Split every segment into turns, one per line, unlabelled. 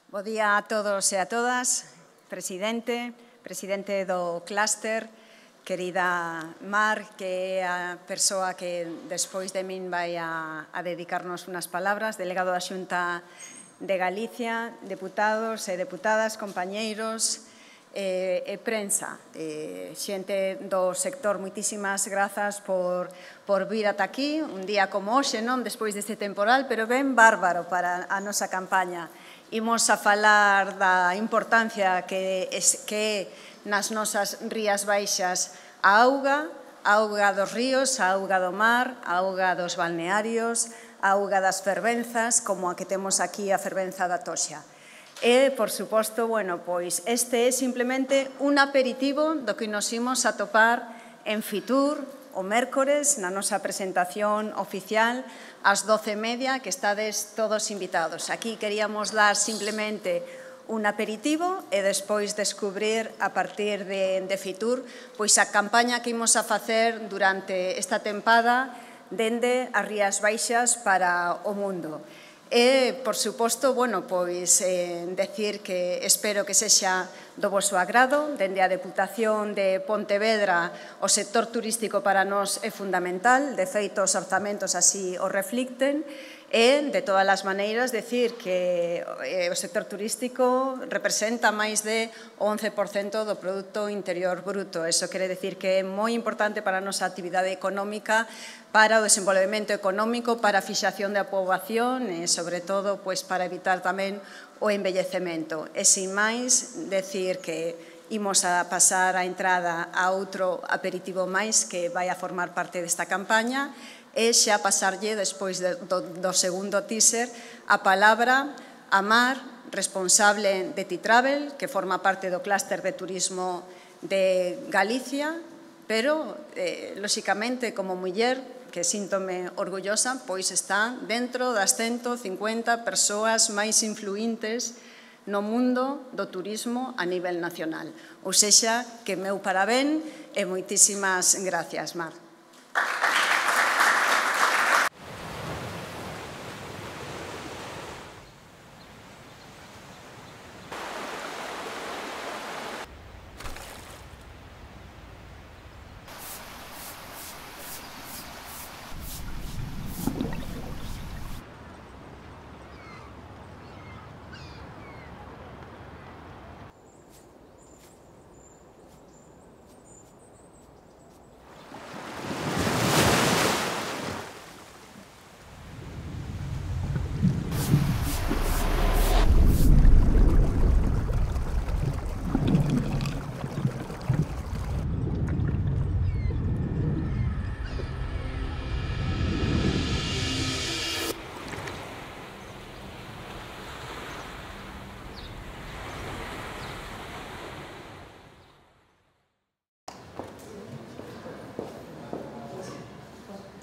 Bo día a todos e a todas, presidente do clúster, querida Mar, que é a persoa que despois de min vai a dedicarnos unhas palabras, delegado da Xunta de Galicia, deputados e deputadas, compañeiros e prensa, xente do sector, moitísimas grazas por vir ata aquí, un día como hoxe, non despois deste temporal, pero ben bárbaro para a nosa campaña. Imos a falar da importancia que é nas nosas rías baixas a auga dos ríos, a auga do mar, a auga dos balnearios, a auga das fervenzas, como a que temos aquí a fervenza da Toxa. E, por suposto, pois este é simplemente un aperitivo do que nos imos a topar en Fitur, o mércores, na nosa presentación oficial, ás 12:30, que estades todos invitados. Aquí queríamos dar simplemente un aperitivo e despois descubrir a partir de Fitur pois a campaña que imos a facer durante esta tempada dende as Rías Baixas para o mundo. E, por suposto, pois decir que espero que sexa do voso agrado. Dende a Deputación de Pontevedra, o sector turístico para nós é fundamental, de feito os orzamentos así o reflicten, e, de todas as maneiras, decir que o sector turístico representa máis de 11% do Produto Interior Bruto. Eso quere decir que é moi importante para a nosa actividade económica, para o desenvolvemento económico, para a fixación da poboación e, sobre todo, para evitar tamén o envellecemento. E, sin máis, decir que imos a pasar a entrada a outro aperitivo máis que vai a formar parte desta campaña e xa pasarlle, despois do segundo teaser, a palabra a Mar, responsable de T-Travel, que forma parte do clúster de turismo de Galicia, pero, lóxicamente, como muller, que síntome orgullosa, pois está dentro das 150 persoas máis influíntes no mundo do turismo a nivel nacional. Ou sexa, que meu parabén e moitísimas gracias, Mar.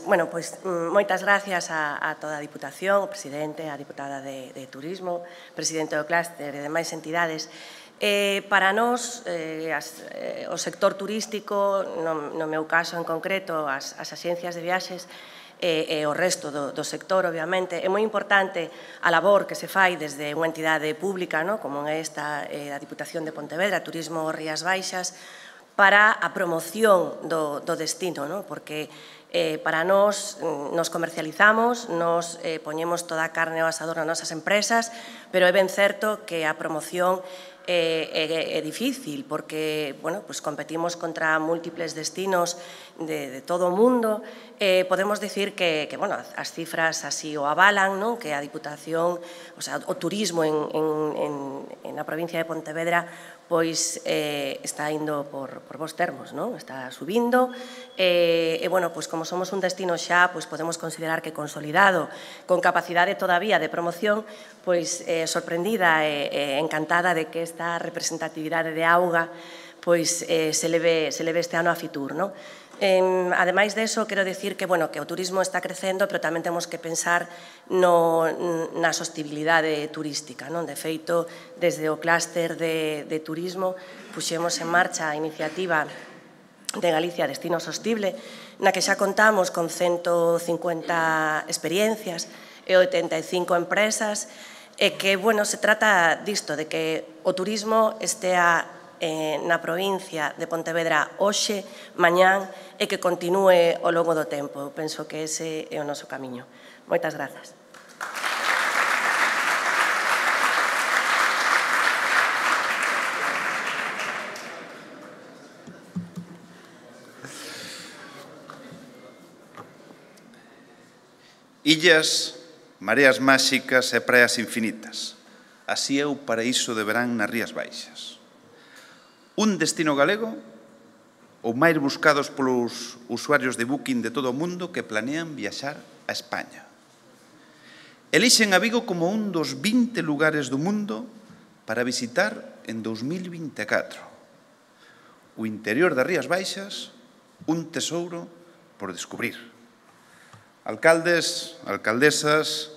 Bueno, pois moitas gracias a toda a Diputación, o presidente, a diputada de Turismo, presidente do clúster e demais entidades. Para nós, o sector turístico, no meu caso en concreto, as axencias de viaxes e o resto do sector, obviamente, é moi importante a labor que se fai desde unha entidade pública, como é esta, a Diputación de Pontevedra, Turismo Rías Baixas, para a promoción do destino, porque para nós nos comercializamos, nos poñemos toda a carne ao asador nas nosas empresas, pero é ben certo que a promoción é difícil porque competimos contra múltiples destinos de todo o mundo. Podemos dicir que as cifras así o avalan, que a Diputación, o turismo na provincia de Pontevedra pois está indo por bons termos, está subindo e, como somos un destino xa, podemos considerar que consolidado, con capacidade todavía de promoción, sorprendida e encantada de que esta representatividade de auga se leve este ano a Fitur. Ademais de eso, quero dicir que o turismo está crecendo, pero tamén temos que pensar na sostibilidade turística. De feito, desde o clúster de turismo puxemos en marcha a iniciativa de Galicia Destino Sostible, na que xa contamos con 150 experiencias e 85 empresas E que, bueno, se trata disto, de que o turismo estea na provincia de Pontevedra hoxe, mañán, e que continúe ao longo do tempo. Eu penso que ese é o noso camiño. Moitas grazas.
Illas, mareas máxicas e praias infinitas. Así é o paraíso de verán nas Rías Baixas. Un destino galego, ou máis buscados polos usuarios de Booking de todo o mundo que planean viaxar a España. Elixen a Vigo como un dos 20 lugares do mundo para visitar en 2024. O interior das Rías Baixas, un tesouro por descubrir. Alcaldes, alcaldesas,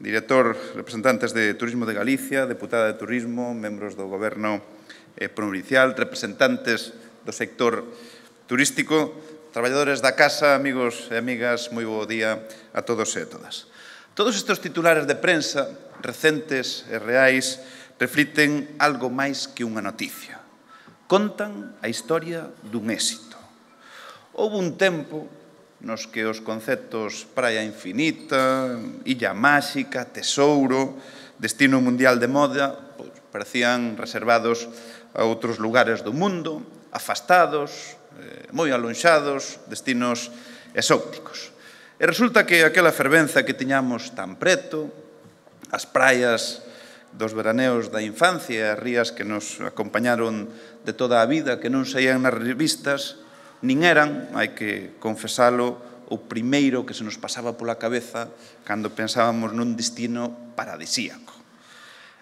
director, representantes de Turismo de Galicia, deputada de Turismo, membros do Goberno provincial, representantes do sector turístico, traballadores da casa, amigos e amigas, moi bo día a todos e a todas. Todos estes titulares de prensa, recentes e reais, refliten algo máis que unha noticia. Contan a historia dun éxito. Houve un tempo nos que os conceptos praia infinita, illa máxica, tesouro, destino mundial de moda, parecían reservados a outros lugares do mundo, afastados, moi alonxados, destinos exóticos. E resulta que aquela fervenza que tiñamos tan preto, as praias dos veraneos da infancia, as rías que nos acompañaron de toda a vida, que non saían nas revistas, nin eran, hai que confesalo, o primeiro que se nos pasaba pola cabeza cando pensábamos nun destino paradisíaco.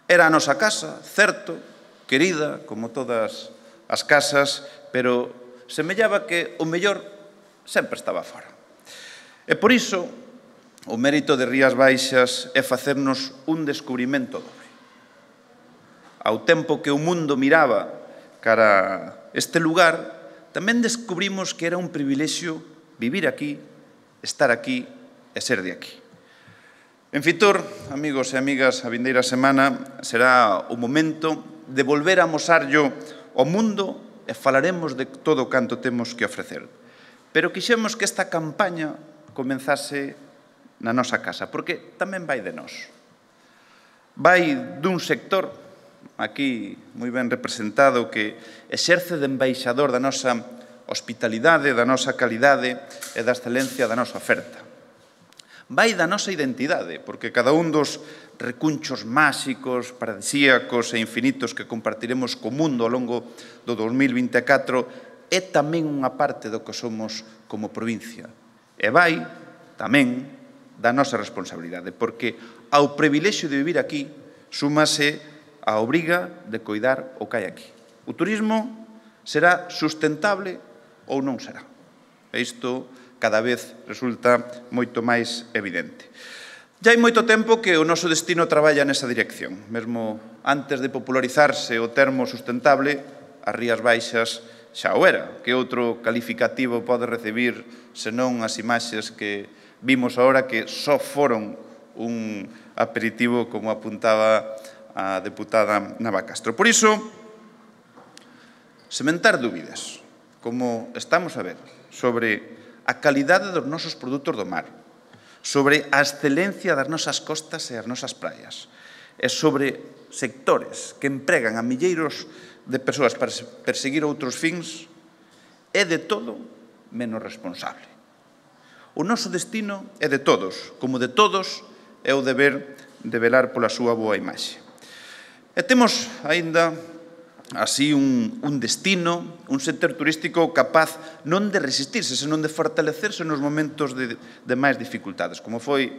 Era a nosa casa, certo, querida, como todas as casas, pero semellaba que o mellor sempre estaba fora. E por iso, o mérito de Rías Baixas é facernos un descubrimento dobre. Ao tempo que o mundo miraba cara a este lugar, tamén descubrimos que era un privilexio vivir aquí, estar aquí e ser de aquí. En Fitur, amigos e amigas, a vindeira semana será o momento de volver a amosarllo ao mundo e falaremos de todo canto temos que ofrecer. Pero quixemos que esta campaña comenzase na nosa casa, porque tamén vai de nós. Vai dun sector aquí moi ben representado, que exerce de embaixador da nosa hospitalidade, da nosa calidade e da excelencia da nosa oferta. Vai da nosa identidade, porque cada un dos recunchos máxicos, paradisíacos e infinitos que compartiremos co mundo ao longo do 2024 é tamén unha parte do que somos como provincia. E vai tamén da nosa responsabilidade, porque ao privilexio de vivir aquí súmase a obriga de coidar o que hai aquí. O turismo será sustentable ou non será. E isto cada vez resulta moito máis evidente. Ya hai moito tempo que o noso destino traballa nesa dirección. Mesmo antes de popularizarse o termo sustentable, as Rías Baixas xa o era. Que outro calificativo pode recibir senón as imaxes que vimos agora, que só foron un aperitivo, como apuntaba a deputada Navacastro. Por iso, sementar dúbidas, como estamos a ver, sobre a calidade dos nosos produtos do mar, sobre a excelencia das nosas costas e as nosas praias, e sobre sectores que empregan a milleiros de persoas para perseguir outros fins, é de todo menos responsable. O noso destino é de todos, como de todos é o deber de velar pola súa boa imaxe. E temos aínda así un destino, un sector turístico capaz non de resistirse, senón de fortalecerse nos momentos de máis dificultades, como foi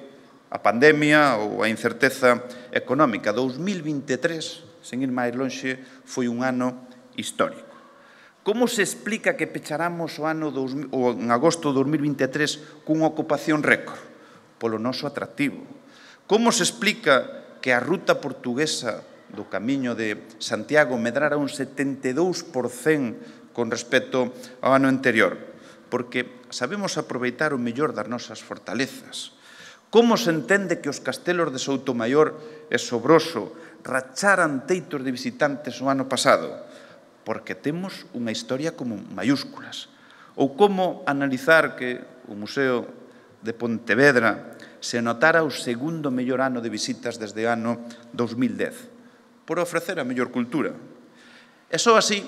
a pandemia ou a incerteza económica. 2023, sen ir máis lonxe, foi un ano histórico. Como se explica que pecharamos o ano en agosto de 2023 cunha ocupación récord? Polo noso atractivo. Como se explica que a ruta portuguesa do Camiño de Santiago medrara un 72% con respecto ao ano anterior? Porque sabemos aproveitar o mellor das nosas fortalezas. Como se entende que os castelos de Soutomaior e Sobroso racharan teitos de visitantes o ano pasado? Porque temos unha historia como mayúsculas. Ou como analizar que o Museo de Pontevedra se notara o segundo mellor ano de visitas desde o ano 2010, por ofrecer a mellor cultura. E só así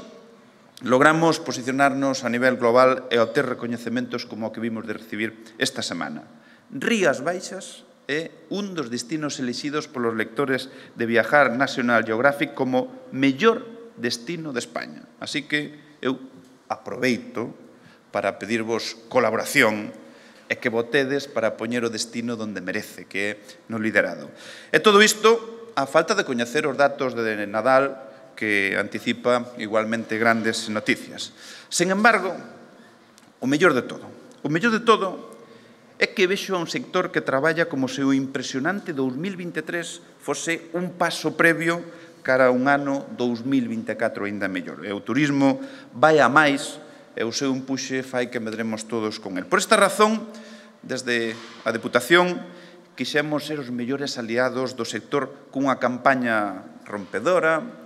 logramos posicionarnos a nivel global e obter recoñecementos como o que vimos de recibir esta semana. Rías Baixas é un dos destinos elixidos polos lectores de Viajar National Geographic como mellor destino de España. Así que eu aproveito para pedirvos colaboración e que votedes para poñer o destino donde merece, que é no liderado. E todo isto a falta de coñecer os datos de Nadal, que anticipa igualmente grandes noticias. Sen embargo, o mellor de todo é que vexo a un sector que traballa como se o impresionante 2023 fose un paso previo cara a un ano 2024 aínda mellor. E o turismo vai a máis e o seu empuxe fai que medremos todos con el. Por esta razón, desde a Deputación, quixemos ser os mellores aliados do sector cunha campaña rompedora,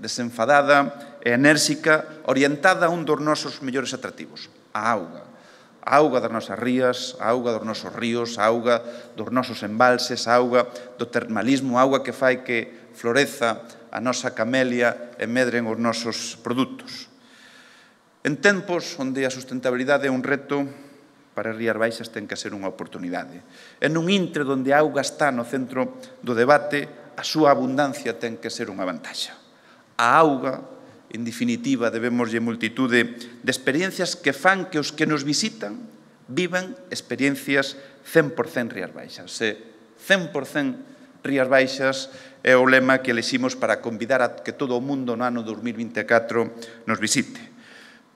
desenfadada e enérxica, orientada a un dos nosos mellores atractivos, a auga. A auga das nosas rías, a auga dos nosos ríos, a auga dos nosos embalses, a auga do termalismo, a auga que fai que floreza a nosa camelia e medren os nosos produtos. En tempos onde a sustentabilidade é un reto, para as Rías Baixas ten que ser unha oportunidade. En un intre onde a auga está no centro do debate, a súa abundancia ten que ser unha vantaxa. A auga, en definitiva, debemoslle multitude de experiencias que fan que os que nos visitan vivan experiencias 100% Rías Baixas. 100% Rías Baixas é o lema que eleximos para convidar a que todo o mundo no ano 2024 nos visite.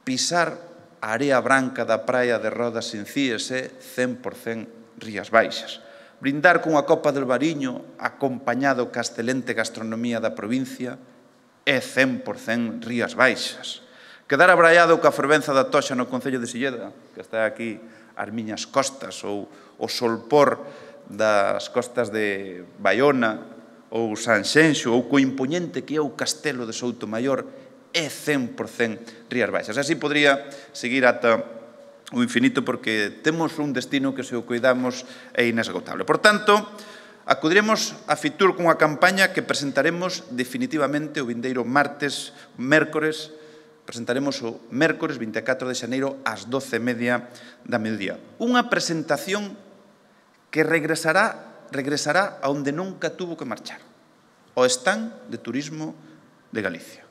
Pisar a area branca da praia de Rodas en Cíes é 100% Rías Baixas. Brindar cunha copa del Bariño acompañado ca excelente gastronomía da provincia é 100% Rías Baixas. Quedar abraiado coa fervenza da Toxa no concello de Silleda, que está aquí ás miñas costas, ou o solpor das costas de Baiona ou Sanxenxo, ou co impoñente que é o castelo de Soutomaior, é 100% Rías Baixas. Así podría seguir ata o infinito, porque temos un destino que, se o cuidamos, é inesgotable. Por tanto, acudiremos a Fitur cunha campaña que presentaremos definitivamente o vindeiro mércores, presentaremos o mércores 24 de xaneiro ás 12:30 da mediodía. Unha presentación que regresará a onde nunca tuvo que marchar, ao stand de Turismo de Galicia.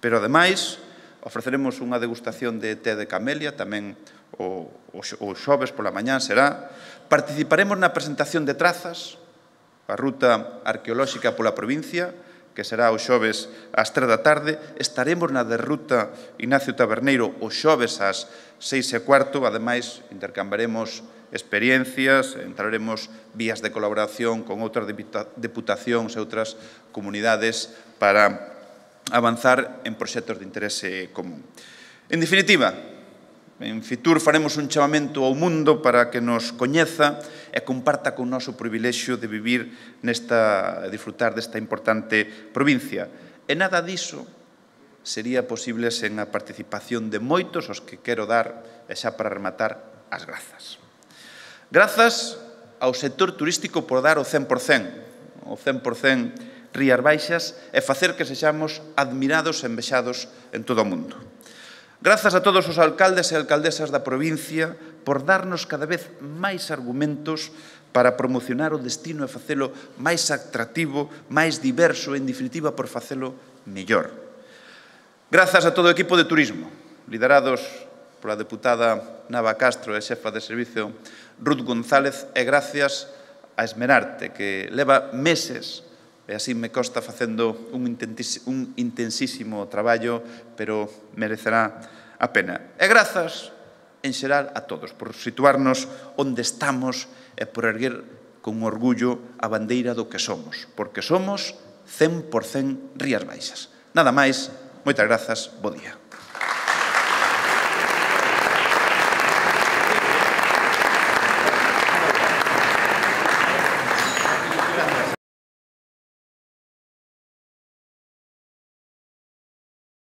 Pero, ademais, ofreceremos unha degustación de té de camelia, tamén o xoves pola mañá será. Participaremos na presentación de trazas, a ruta arqueolóxica pola provincia, que será o xoves ás 3 da tarde. Estaremos na de ruta Ignacio Taberneiro o xoves ás 6:15. Ademais, intercambiaremos experiencias, entraremos vías de colaboración con outras deputacións e outras comunidades para avanzar en proxectos de interese común. En definitiva, en Fitur faremos un chamamento ao mundo para que nos coñeza e comparta con noso privilexio de vivir e disfrutar desta importante provincia. E nada diso sería posible sen a participación de moitos aos que quero dar, e xa para rematar, as grazas. Grazas ao sector turístico por dar o 100%, Rías Baixas, e facer que sexamos admirados e envexados en todo o mundo. Grazas a todos os alcaldes e alcaldesas da provincia por darnos cada vez máis argumentos para promocionar o destino e facelo máis atractivo, máis diverso e, en definitiva, por facelo mellor. Grazas a todo o equipo de turismo, liderados pola deputada Nava Castro e xefa de servicio Ruth González, e gracias a Esmerarte, que leva meses, e así me consta, facendo un intensísimo traballo, pero merecerá a pena. E grazas, en xeral, a todos, por situarnos onde estamos e por erguer con orgullo a bandeira do que somos, porque somos 100% Rías Baixas. Nada máis, moitas grazas, bo día.